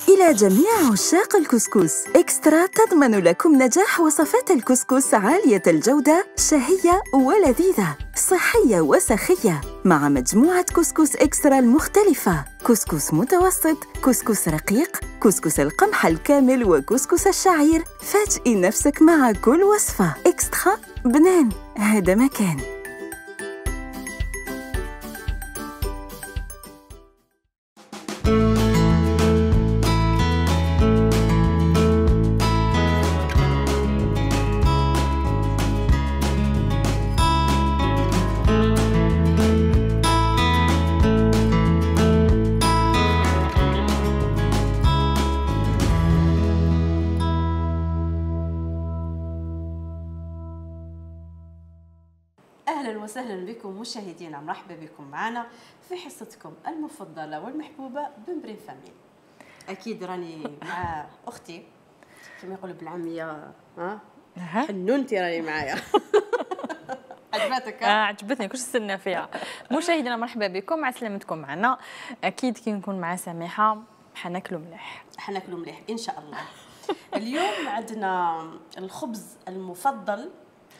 إلى جميع عشاق الكسكس، إكسترا تضمن لكم نجاح وصفات الكسكس عالية الجودة، شهية ولذيذة، صحية وسخية، مع مجموعة كسكس إكسترا المختلفة: كسكس متوسط، كسكس رقيق، كسكس القمح الكامل، وكسكس الشعير. فاجئي نفسك مع كل وصفة. إكسترا بنان، هذا مكان. أهلا وسهلا بكم مشاهدينا، مرحبا بكم معنا في حصتكم المفضلة والمحبوبة بمبرين فاميل. أكيد راني مع أختي كما يقولوا بالعامية، حنونتي راني معايا. عجبتك؟ عجبتني، كلش استنى فيها. مشاهدينا مرحبا بكم، مع سلامتكم معنا. أكيد كي نكون مع سميحة حناكلوا مليح. حناكلوا مليح إن شاء الله. اليوم عندنا الخبز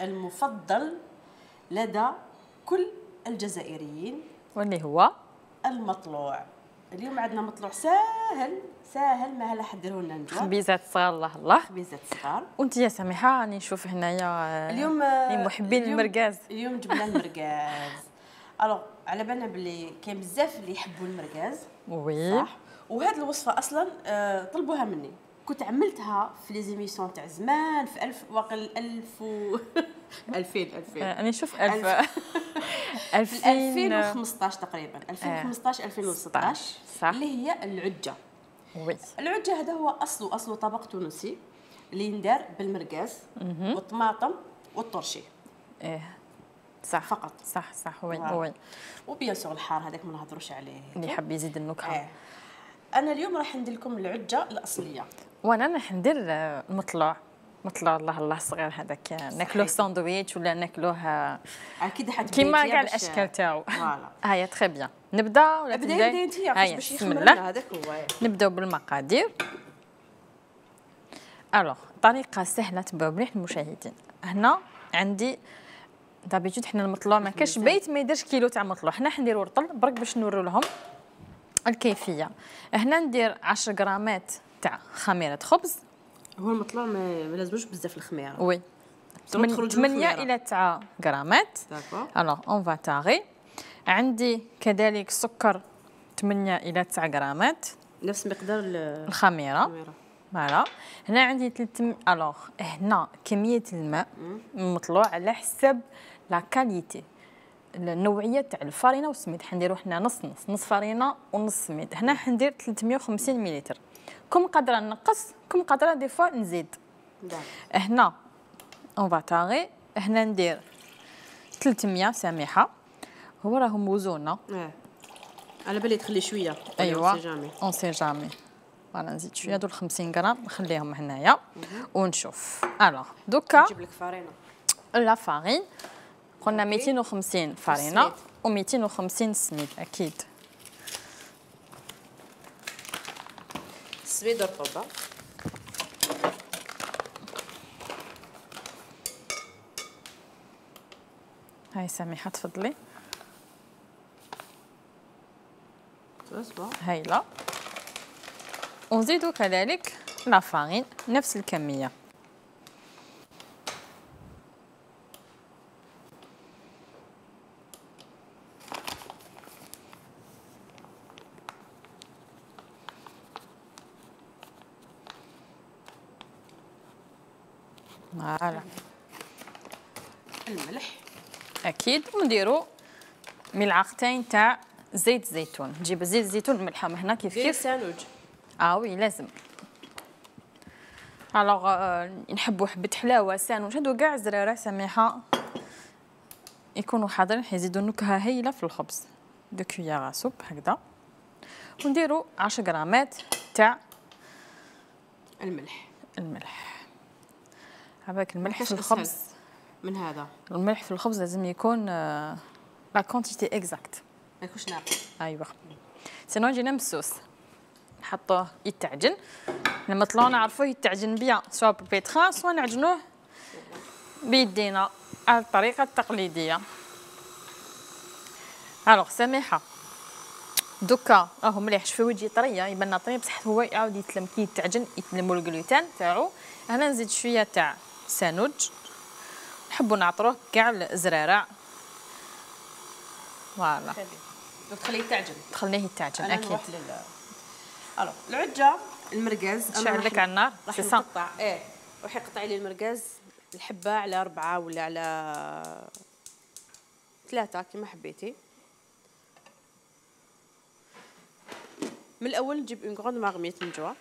المفضل لدى كل الجزائريين، واللي هو المطلوع. اليوم عندنا مطلوع ساهل ما هلا حضروا لنا نجوى. خبيزات صغار، الله الله، خبيزات صغار. وانت يا سميحه راني نشوف هنايا اليوم محبين المرقاز. اليوم جبنا المرقاز. الوغ على بالنا بلي كاين بزاف اللي يحبوا المرقاز. وي صح. وهذه الوصفه اصلا طلبوها مني، كنت عملتها في لي زيميسيون تاع زمان في 1000 واقل 1000 و 2000 انا نشوف 2015 تقريبا، 2015 2016 صح، اللي هي العجه. وي العجه هذا هو اصله طبق تونسي اللي يندار بالمرقاز والطماطم والطرشي. صح فقط. صح وي وبيان سور الحار هذاك ما نهضروش عليه، اللي يحب يزيد النكهه. انا اليوم راح ندير لكم العجه الاصليه، وانا راح ندير المطلوع. مطلع الله صغير هذاك، ناكلوه ساندويتش ولا ناكلوه اكيد كيما كاع الاشكال تاعو. فوالا هيا تري بيان. نبدا ولا بداي انت باش يخمر لنا هذاك هو. نبداو بالمقادير. الوغ طريقه سهله تبعوا مليح المشاهدين. هنا عندي دابيتود حنا المطلوع ما كاش بيت ما يديرش كيلو تاع مطلوع، حنا نديرو رطل برك باش نورو لهم الكيفيه. هنا ندير 10 غرامات تاع خميره خبز. هو المطلوع ما لازموش بزاف الخميره. وي 8 الى 9 غرامات. داكور. الوغ اون فا تاغي. عندي كذلك سكر 8 الى 9 غرامات، نفس مقدار الخميره. فوالا. هنا عندي 300. الوغ هنا كميه الماء المطلوع على حسب لا كاليتي، النوعيه تاع الفرينه والسميد. حنديرو حنا نص فرينه ونص سميد. هنا حندير 350 مليلتر. كم قادره نقص، كم قادره دي فوا نزيد. هنا اون فاتاغي. هنا ندير 300 سميحه، هو راهم موزونه. على بالي تخلي شويه. ايوا اون سي جامي. فوالا نزيد شويه دول 50 غرام نخليهم هنايا ونشوف. الوغ دوكا نجيب لك فرينه. لا فارين قلنا 250 فرينه و250 سميد. اكيد السميد رطب. هاي سميحه تفضلي. تصبر هايله. ونزيدو كذلك لا فارين نفس الكميه. فوالا. الملح اكيد. ونديرو ملعقتين تاع زيت زيتون. نجيب زيت زيتون ملحه هنا كيف سانوج. وي لازم. الوغ نحبوا حبه حلاوه سانوج هادو كاع زراره سميحه يكونوا حاضرين، حيزيدوا نكهه هايله في الخبز. 2 كويار سوب هكذا. ونديروا 10 غرامات تاع الملح. هذاك الملح في الخبز من هذا الملح في الخبز لازم يكون لا كونتيتي اكزاكت، ما يكونش ناقص. ايوا سينو يجينا مسوس. نحطوه يتعجن. لما طلعوا نعرفوه يتعجن بيان سواء بالبيتخان سواء نعجنوه بيدينا على الطريقه التقليديه. الوغ سميحه دوكا راهو مليح، شوفي وجهي طريه يبان طري بصح هو يعاود يتلم كي يتعجن يتلموا الجلوتين تاعو. هنا نزيد شويه تاع سانوج، نحبوا نعطروه كاع الزرارع فوالا تخليه يتعجن، تخليه يتعجن اكيد. نروح الو العجه المرقاز نشعل لك على النار راح نقطع روحي قطعي لي المرقاز الحبه على 4 ولا على 3 كما حبيتي. من الاول نجيب اون غروند مارميت من جوا،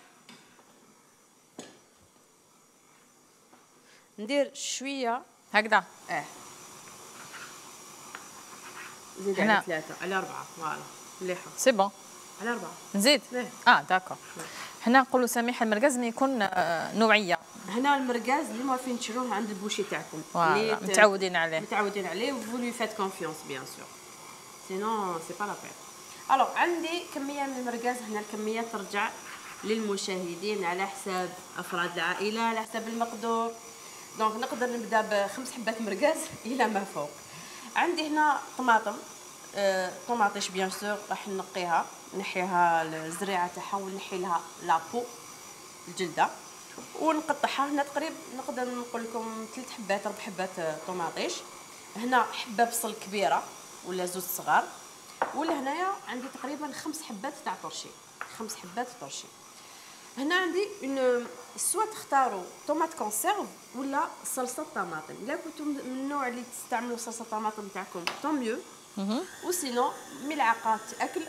ندير شويه هكذا زيد على 3 على 4 فوالا مليحه سي بون على 4 نزيد داكور. حنا نقولوا سميحه المرقاز ملي يكون نوعيه. هنا المرقاز اللي ما فين تشروه عند البوشي تاعكم اللي متعودين عليه vous lui faites confiance bien sûr sinon c'est pas la peine. الوغ عندي كميه من المرقاز. هنا الكميه ترجع للمشاهدين على حساب افراد العائله على حساب المقدور. دونك نقدر نبدا ب5 حبات مرقاز الى ما فوق. عندي هنا طماطم طوماطيش بيان سور راح نقيها نحيها الزريعه تاعها ونحي لها لابو الجلده ونقطعها. هنا تقريبا نقدر نقول لكم 3 حبات 4 حبات طوماطيش. هنا حبه بصل كبيره ولا زوج صغار، ولا هنايا عندي تقريبا 5 حبات تاع طرشي 5 حبات طرشي. هنا عندي سوا تختاروا طوماط كونسيرف ولا صلصه طماطم. الا كنتم من النوع اللي تستعملوا صلصه الطماطم تاعكم طون ميو وسينو ملعقه اكل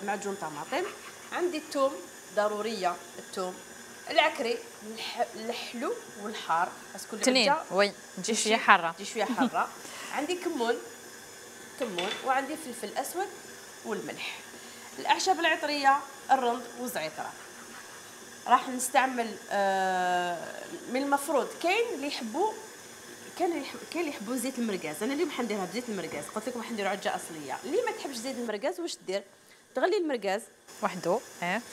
معجون طماطم. عندي الثوم ضروريه، الثوم العكري الحلو والحار باسكو تنين وي تجي شويه حاره عندي كمون وعندي فلفل اسود والملح. الاعشاب العطريه الرند والزعتره. راح نستعمل من المفروض كاين اللي يحبوا اللي يحبوا زيت المرقاز. انا اليوم حنديرها بزيت المرقاز، قلت لكم حنديروا عجه اصليه. اللي ما تحبش زيت المرقاز واش دير؟ تغلي المرقاز وحده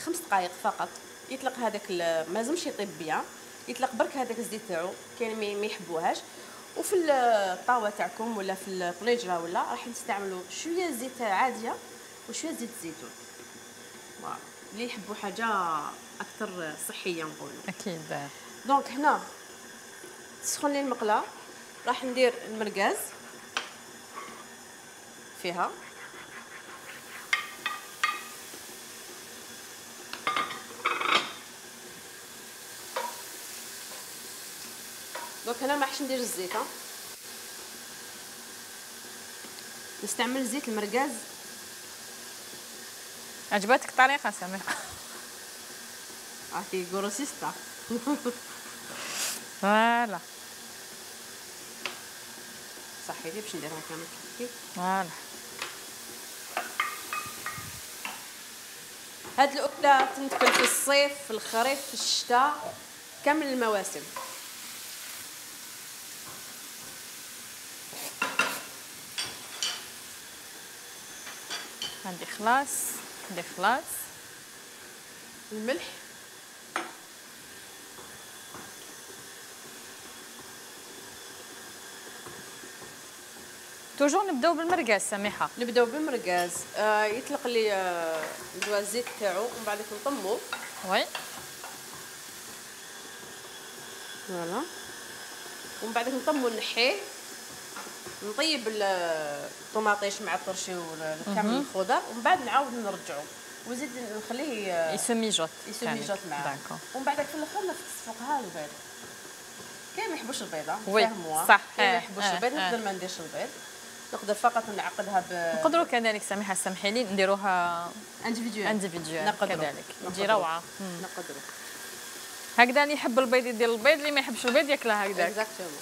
5 دقائق فقط يطلق هذاك ما لازمش يطيب بيان، يطلق برك هذاك الزيت تاعو. كاين ما يحبوهاش. وفي الطاوه تاعكم ولا في الطنجره ولا راح نستعملوا شويه زيت عاديه وشويه زيت الزيتون. اللي يحبوا حاجه اكثر صحيه نقولوا اكيد. دونك هنا تسخن لي المقله، راح ندير المرقاز فيها دونك هنا ما راحش ندير الزيت نستعمل زيت المرقاز. عجبتك الطريقه سميحه؟ عرفتي غروسيستا فوالا صحيتي باش نديرها كامل كيف فوالا. هاد الاكله تنتكل في الصيف في الخريف في الشتاء كامل المواسم. عندي خلاص الملح توجور نبداو بالمرقاز سميحه. نبداو بالمرقاز. يطلق لي ندوا الزيت تاعو ومن بعد نطمو وي فوالا ومن بعد نطمو نحيه نطيب الطوماطيش مع الطرشي وكامل الخضر ومن بعد نعاود نرجعو وزيد نخليه يسميجوط معاه. ومن بعد في الاخر نفوقها البيض. كاين ما يحبوش البيض فاهموا صح. كاين ما يحبوش البيض نقدر ما نديرش البيض، نقدر فقط نعقدها نقدروا كذلك سميحه سمحي لي نديروها انديفيديوال كذلك تجي روعه. نقدروا هكذا اللي يحب البيض يدير البيض، اللي ما يحبش البيض ياكلها هكذا. اكزاكتومون.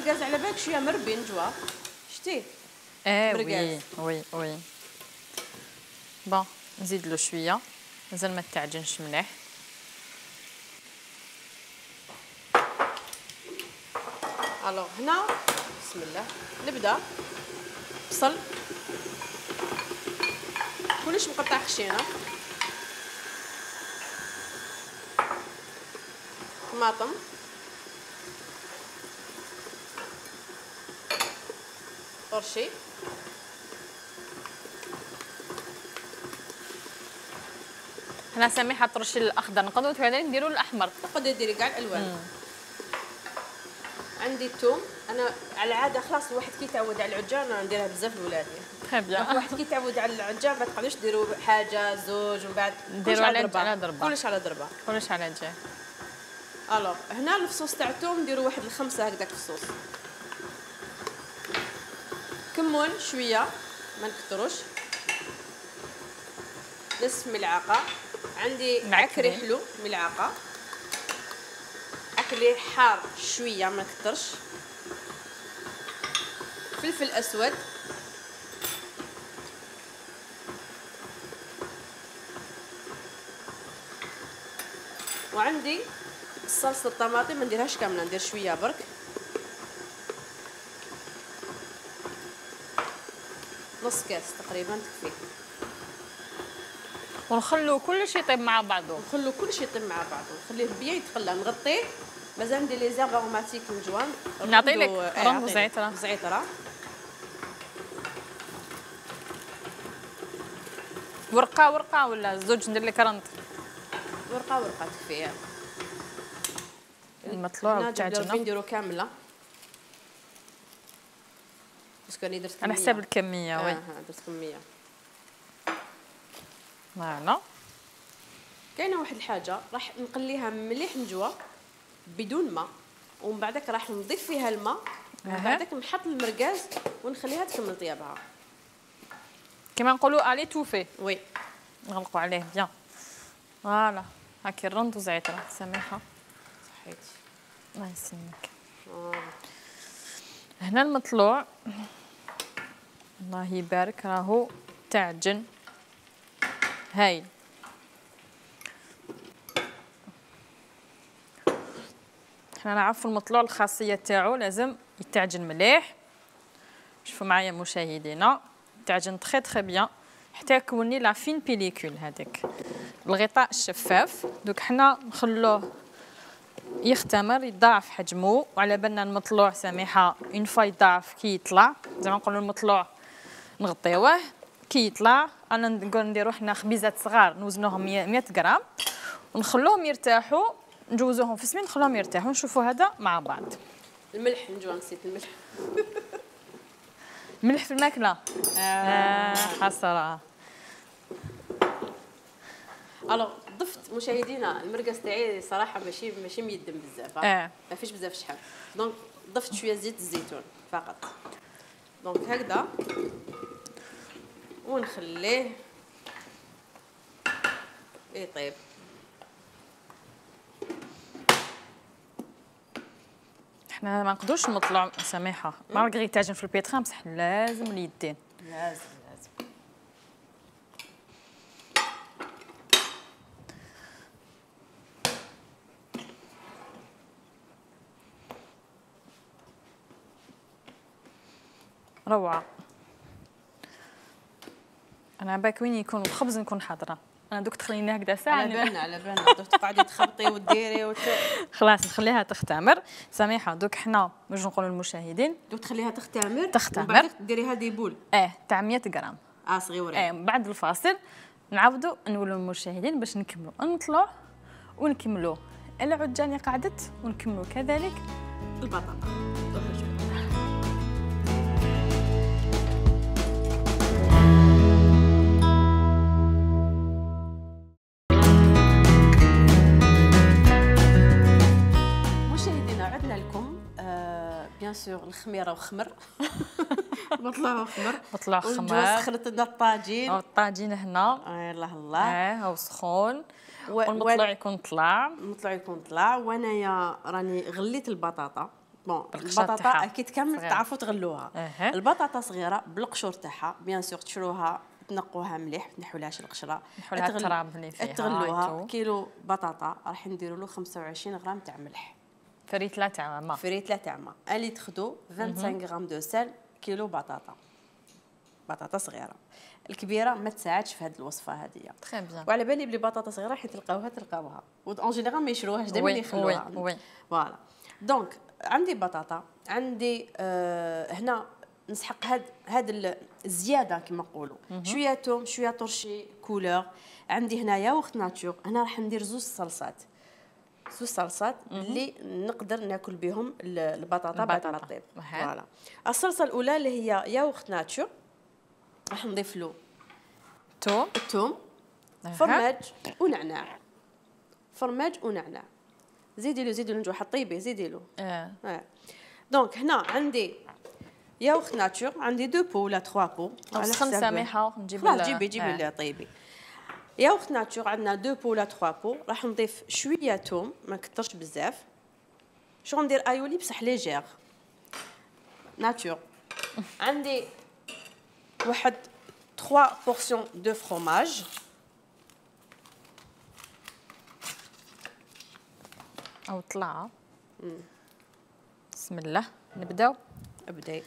المرقاز على بالك شويه مربي نجوى شتيه وي وي وي بون نزيد له شويه مازال ما تعجنش مليح. الوغ هنا بسم الله نبدا بصل كلش مقطع خشينه، طماطم، طرشي، هنا سميحه الطرشي الاخضر نقدروا كذلك نديروا الاحمر، تقدري ديري كاع الالوان. عندي الثوم، انا على العاده خلاص الواحد كي يتعود على العجان انا نديرها بزاف لولادي. تري بيان. الواحد كي يتعود على العجان ما تقدروش ديروا حاجه زوج ومن بعد نديروا على ضربه كلش على ضربه كلش على جاي. الوغ هنا الفصوص تاع الثوم نديروا واحد الخمسه هكذاك فصوص، كمون شويه ما نكثروش، نصف ملعقه، عندي عكري حلو ملعقه، عكري حار شويه ما نكثرش، فلفل اسود، وعندي صلصه الطماطم ما نديرهاش كامله ندير شويه برك، نص كاس تقريبا تكفي، ونخلو كل شيء يطيب مع بعضه. نخلو كل شيء يطيب مع بعضه، نخليه بيان يتقلى، نغطيه، مازال ندير لي زيغ اروماتيك من جوان. نعطي لك رمز زعتره. زعتره ورقه ولا زوج ندير لك رند؟ ورقه تكفي. المطلوع تاعنا نديرو كامله باسكو راني درت كميه على حساب الكميه. وي درت كميه. فوالا كاينه واحد الحاجه راح نقليها مليح نجوى بدون ماء، ومن بعدك راح نضيف فيها الماء، ومن بعدك نحط المرقاز ونخليها تكمل طيابها كما نقولوا الي توفي. وي نغلقوا عليه بيان. فوالا هاكي الرند وزعتره سميحه. صحيتي الله يسلمك. هنا المطلوع الله يبارك راهو تعجن هايل. احنا نعرفوا المطلوع الخاصيه تاعو لازم يتعجن مليح. شوفوا معايا مشاهدينا تعجن تري تري بيان حتى يكوني لا فين بيليكول هذاك الغطاء الشفاف. دوك حنا نخلوه يختمر يضاعف حجمه، وعلى بالنا المطلوع سميحه اون فوا يضاعف كي يطلع زعما نقولوا المطلوع نغطيوه كي يطلع. انا نقول نديرو حنا خبيزات صغار نوزنوهم 100 غرام ونخلوهم يرتاحوا، نجوزوهم في السمين نخلوهم يرتاحوا. نشوفوا هذا مع بعض. الملح نجوى نسيت الملح. ملح في الماكله. حسره. الوغ ضفت مشاهدينا المرقاز تاعي صراحه ماشي ميدم بزاف. ما فيش بزاف شحال، دونك ضفت شويه زيت الزيتون فقط. دونك هكذا ونخليه يطيب. احنا ما نقدروش نطلعوا سميحه مارغري تاجن في البيترا بصح لازم اليدين. لازم روعه. انا باك وين يكون الخبز نكون حاضره. انا دوك تخليني هكذا ساعه على بالنا دوك تقعدي تخبطي وديري خلاص نخليها تختمر. سميحه دوك حنا باش نقولوا للمشاهدين دوك تخليها تختمر وبعد ديريها دي بول تاع 100 غرام صغيورين. بعد الفاصل نعاودوا نقولوا للمشاهدين باش نكملوا نطلعوا ونكملوا العجانيه قعدت ونكملوا كذلك البطاطا. بيان سور الخميره وخمر. مطلع خمر سخنت لنا الطاجين. الطاجين هنا الله الله هو سخون والمطلوع يكون طلع. وانا راني غليت البطاطا بون البطاطا اكيد كامل تعرفوا تغلوها. البطاطا صغيره بالقشور تاعها بيان سور تشروها تنقوها مليح، تنحولهاش القشره، نحولها التراب اللي فيها، تغلوها. كيلو بطاطا راح نديروا له 25 غرام تاع ملح، فريتله تاع ماء، فريتله تاع ماء. اللي تاخذوا 25 غرام دو سال كيلو بطاطا، بطاطا صغيره. الكبيره ما تساعدش في هذه الوصفه هذه. تري بيان. وعلى بالي بلي بطاطا صغيره حيت تلقاوها اون جينيرال ما يشروهاش دائما يخلوها. وي فوالا. دونك عندي بطاطا، عندي هنا نسحق هاد الزياده كما نقولوا، شويه توم، شويه طرشي كولور. عندي هنا ياغورت ناتور، هنا راح ندير زوج صلصات اللي نقدر ناكل بهم البطاطا بعد ما تطيب. فوالا. الصلصه الاولى اللي هي ياغورت ناتور، راح نضيف له الثوم، فرماج ونعناع، زيدي له نجوح طيبي، زيدي له. دونك هنا عندي ياغورت ناتور، عندي 2 بو ولا 3 بو على حسب سامحه نجيب جيبي طيبي. ياغورت ناتور عندنا 2 بو ولا 3 بو. راح نضيف شويه توم، ما كثرش بزاف. شو ندير ايولي بصح ليجير ناتور. عندي واحد 3 بورسيون دو فروماج، او طلعه. بسم الله نبداو. ابداي.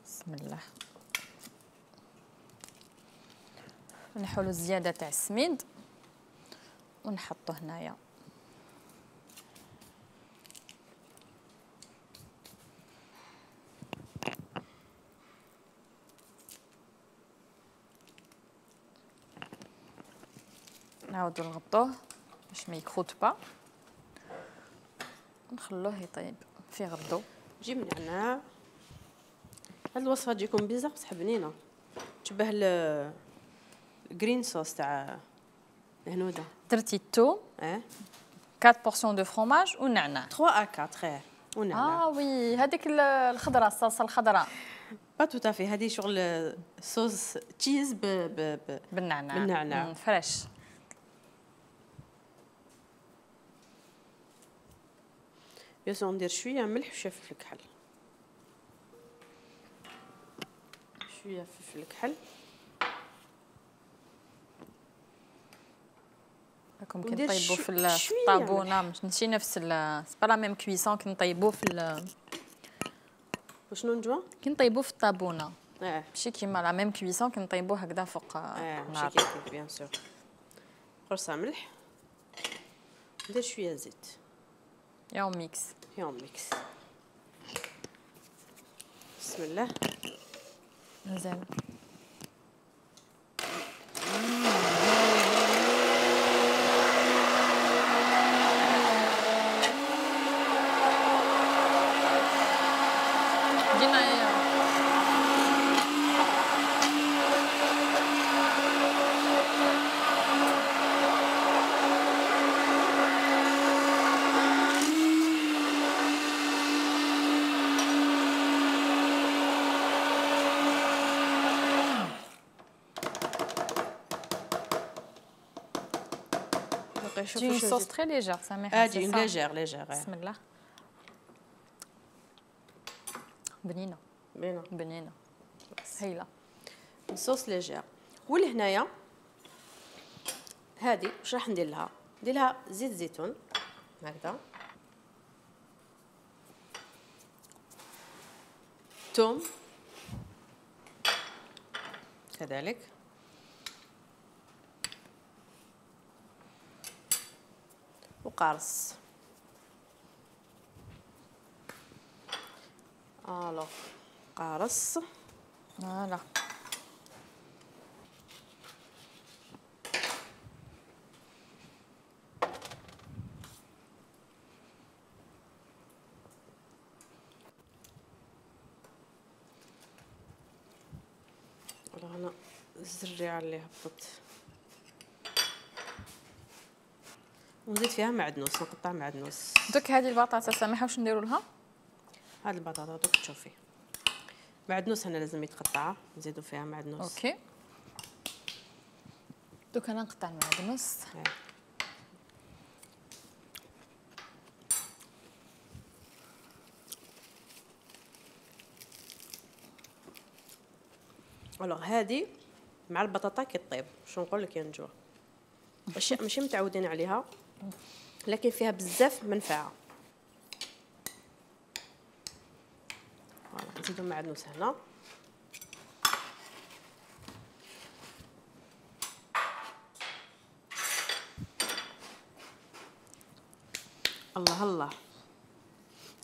بسم الله. نحولوا الزياده تاع السميد ونحطوه هنايا. نعاودو نغطوه باش ما يكخوت با، نخلوه يطيب في غردو. جيب نعناع. هاد الوصفه تجيكم بزاف بصح بنينه، تشبه الجرين صوص تاع الهنوده. درتي الثوم 4 بورسيون دو فرomage والنعناع 3 à 4 ونعناع. وي هذيك الخضراء، الصلصه الخضراء با تو تافي. هذه شغل صوص تشيز بالنعناع فريش. بيان ندير شويه ملح وشويه فلفل كحل، شويه فلفل كحل. راكم كي نطيبوا في الطابونه ماشي نفس سي با لا ميم كويسون كي نطيبوا في وشنو نجوا كي نطيبوا في الطابونه. ماشي كيما لا ميم كويسون كي نطيبوا هكذا فوق النار. ماشي كيف بيان سور. قرصه ملح، ندير شويه زيت. ياو ميكس. بسم الله. مازال une sauce très légère, ça m'a fait une légère. بسم الله. بنينه هايله. صوص ليجير. ولهنايا هذه واش راح ندير لها؟ ندير لها زيت زيتون هكذا، ثوم كذلك، وقارص. قارص. فوالا. انا الزريعه اللي هبطت ونزيد فيها معدنوس، نقطع معدنوس. دوك هذه البطاطا سامحه واش نديروا لها؟ هذه البطاطا دوك تشوفي معدنوس هنا لازم يتقطع، نزيدوا فيها معدنوس. اوكي. دوك انا نقطع المعدنوس. الوغ هذه مع البطاطا كطيب. شنو نقول لك يا نجوى، اشياء ماشي متعودين عليها لكن فيها بزاف منفعه. فوالا نزيدو معدنوس هنا. الله الله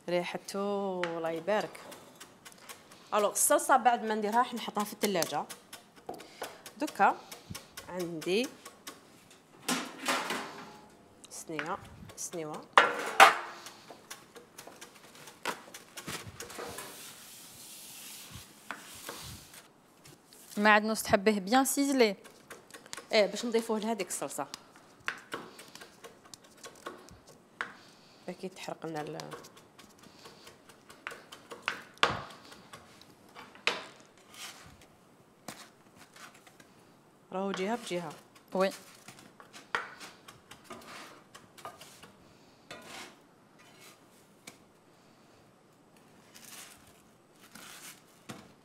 ريحته الله يبارك. الوغ الصلصه بعد ما نديرها راح نحطها في الثلاجه. دوكا عندي سنيوه معدنوس تحبيه بيان سيزلي؟ ايه باش نضيفوه لهذيك الصلصه اكيد تحرق لنا راهو جهه بجهه. وي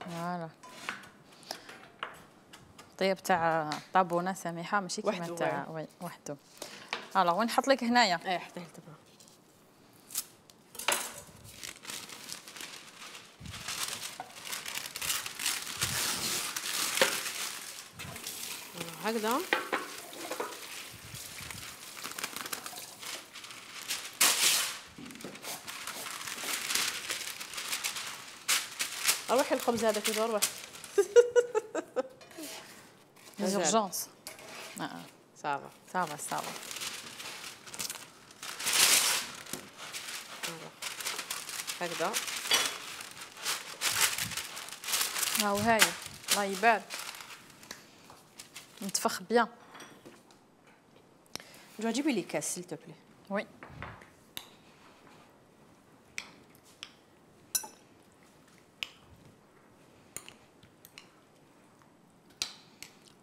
فوالا طيب تاع طابونه سميحه ماشي كيما تاع وي وحده. الوغ وين نحط لك هنايا؟ ايه حطيه تبع هكذا. اروح الخبز هذا كي اروح ليزورجونس. صافا صافا هكذا. هاو هاي الله يبارك نتفخ بيان. جو جيبي لي كاس سيل تو بلي. وي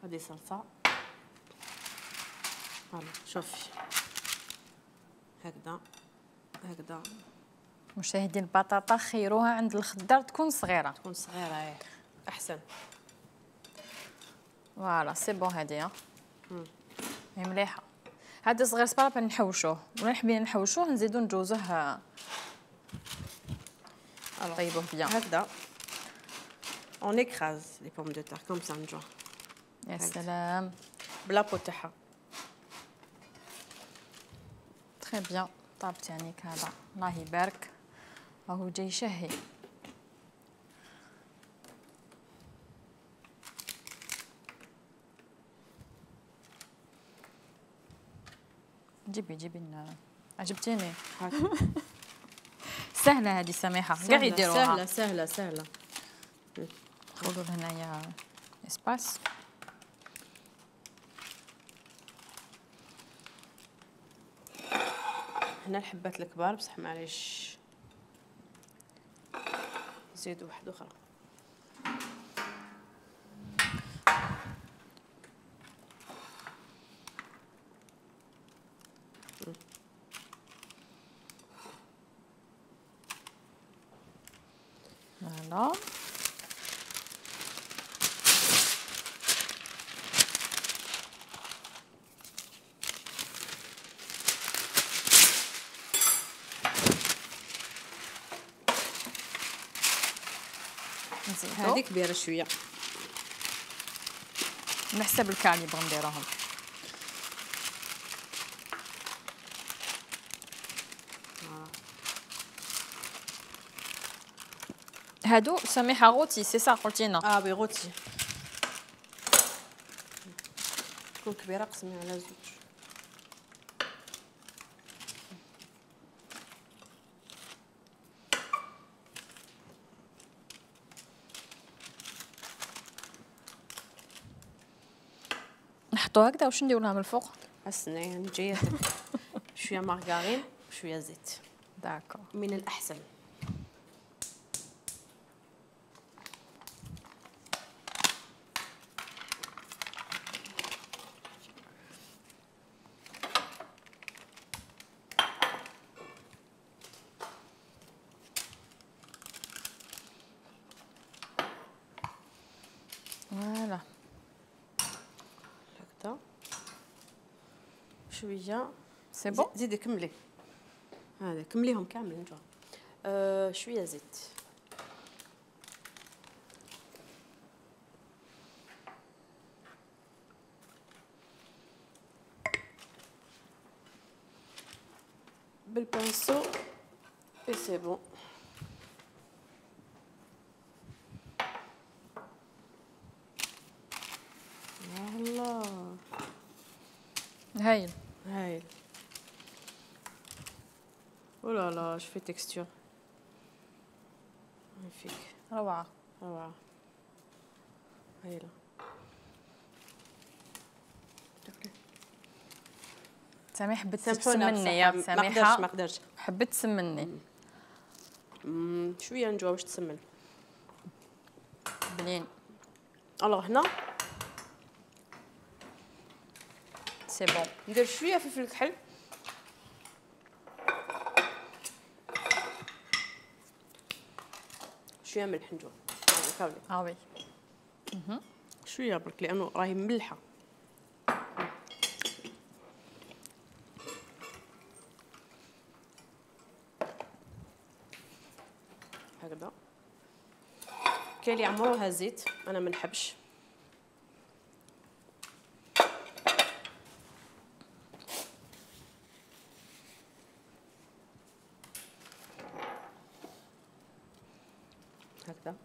هذه صلصه. فوالا شوفي هكذا. مشاهدين البطاطا خيروها عند الخضار تكون صغيره ايه احسن. فوالا سي بون هادي هي مليحه. هذا صغير صبار نحوشوه ولا حبينا نحوشوه نزيدو نجوزوه طيبوه بيان هكذا. اون اكراز لي بوم دو تار كوم سا نجو. يا سلام بلا بو تاعها تري بيان. طاب تانيك هذا الله يبارك راهو جاي شهي. جيبي لنا عجبتيني. سهله هذه سميحه كاع يديروها. سهله. خذوا هنايا اسباس. هنا الحبات الكبار بصح معليش نزيدو واحده اخرى. فوالا هذه كبيره شويه على حسب الكاليبر نديروهم. هادو سميحه غوتي سي صا قلتينا. وي غوتي تكون كبيره قسمي على زوج. نحطو هكذا واش نديرو لها من الفوق؟ استني نجي شويه مارغرين وشويه زيت. داكور من الاحسن. شويه سي بون. زيدي كملي هذا، كمليهم كاملين نجوا. شويه زيت. بالبانسو اي سي بون. الله هايل هايل. ولا لا شوفي تكستور ماغنيفيك، روعه روعه هايله. سامي حبيت تسمني يا سامحه. ما قدرش حبيت تسمني. شويه نجوا واش تسمن. بنين. الوغ هنا سي بون. ندير شويه فلفل كحل، شويه ملح نجوا كاولي. وي. شويه برك لانه راهي ملحه. هكذا. كاين اللي يعمروها زيت، انا ما نحبش. هكذا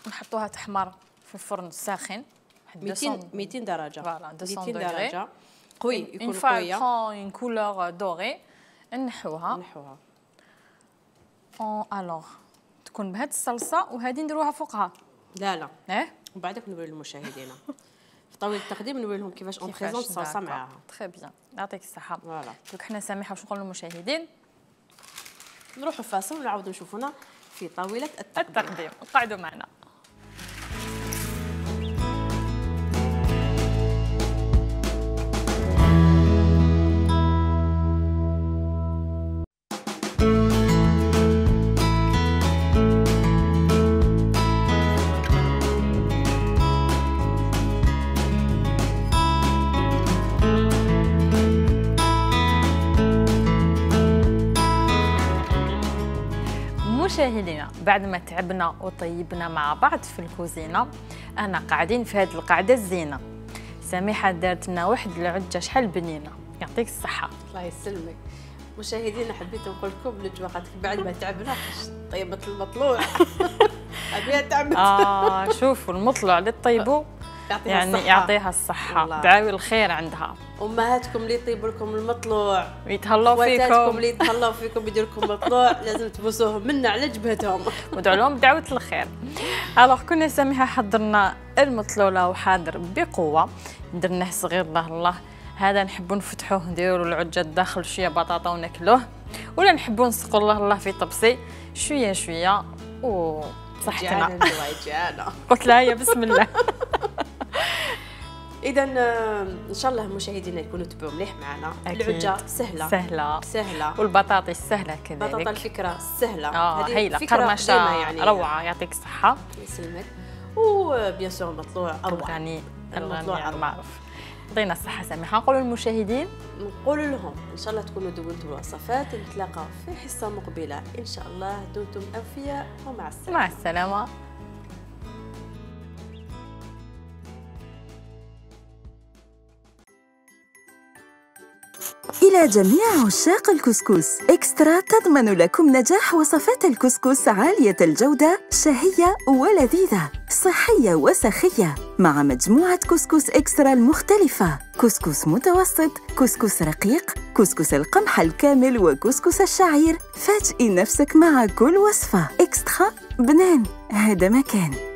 نحطوها تحمر في الفرن الساخن 200 درجه. فوالا 200 درجه قوي، يكون قويه. اون كولور دوري نحوها. الوغ تكون بهاد الصلصه وهذه نديروها فوقها. لا ومن بعدك نوري للمشاهدين في طاوله التقديم نوري لهم كيفاش اون بريزونط الصلصه معاها. تري بيان، يعطيك الصحه. فوالا دوك حنا سامحه واش نقولوا للمشاهدين، نروحوا فاصل ونعاودوا نشوفونا في طاوله التقديم. قعدوا معنا. مشاهدينا، بعد ما تعبنا وطيبنا مع بعض في الكوزينه، انا قاعدين في هذه القعده الزينه. سميحه دارت لنا واحد العجه شحال بنينه، يعطيك الصحه. الله يسلمك. مشاهدينا حبيت نقول لكم بالجوقات بعد ما تعبنا طيبت المطلوع. ابيها تعبت. شوفوا المطلوع اللي طيبوا يعني يعطيها الصحه، دعاوي الخير عندها. امهاتكم اللي يطيبوا لكم المطلوع ويتهلاو فيكم، خواتاتكم اللي يتهلاو فيكم يديروا لكم مطلوع، لازم تبوسوهم منا على جبهتهم ودعوا لهم بدعوه الخير. الوغ كنا سامحه حضرنا المطلوله وحاضر بقوه، درناه صغير الله هذا نحبوا نفتحوه نديروا العجه الداخل شويه بطاطا وناكلوه، ولا نحبوا نسقوا الله في طبسي شويه شويه وصحتنا. قلت لها يا بسم الله. اذا ان شاء الله مشاهدينا يكونوا تبعوا مليح معنا. العجه سهله والبطاطس سهله كذلك. بطاطا الفكره سهله. هايله قرمشه يعني روعه، يعطيك الصحه. يسلمك. وبيان سور المطلوع اروع. المطلوع المعروف. يعطينا الصحه سامحه. نقولوا للمشاهدين، نقول لهم ان شاء الله تكونوا دونتوا الوصفات. نتلاقى في حصه مقبله ان شاء الله. دمتم اوفياء ومع السلامه. مع السلامه. إلى جميع عشاق الكسكس، إكسترا تضمن لكم نجاح وصفات الكسكس عالية الجودة، شهية ولذيذة، صحية وسخية، مع مجموعة كسكس إكسترا المختلفة: كسكس متوسط، كسكس رقيق، كسكس القمح الكامل، وكسكس الشعير. فاجئي نفسك مع كل وصفة. إكسترا بنان، هذا مكان.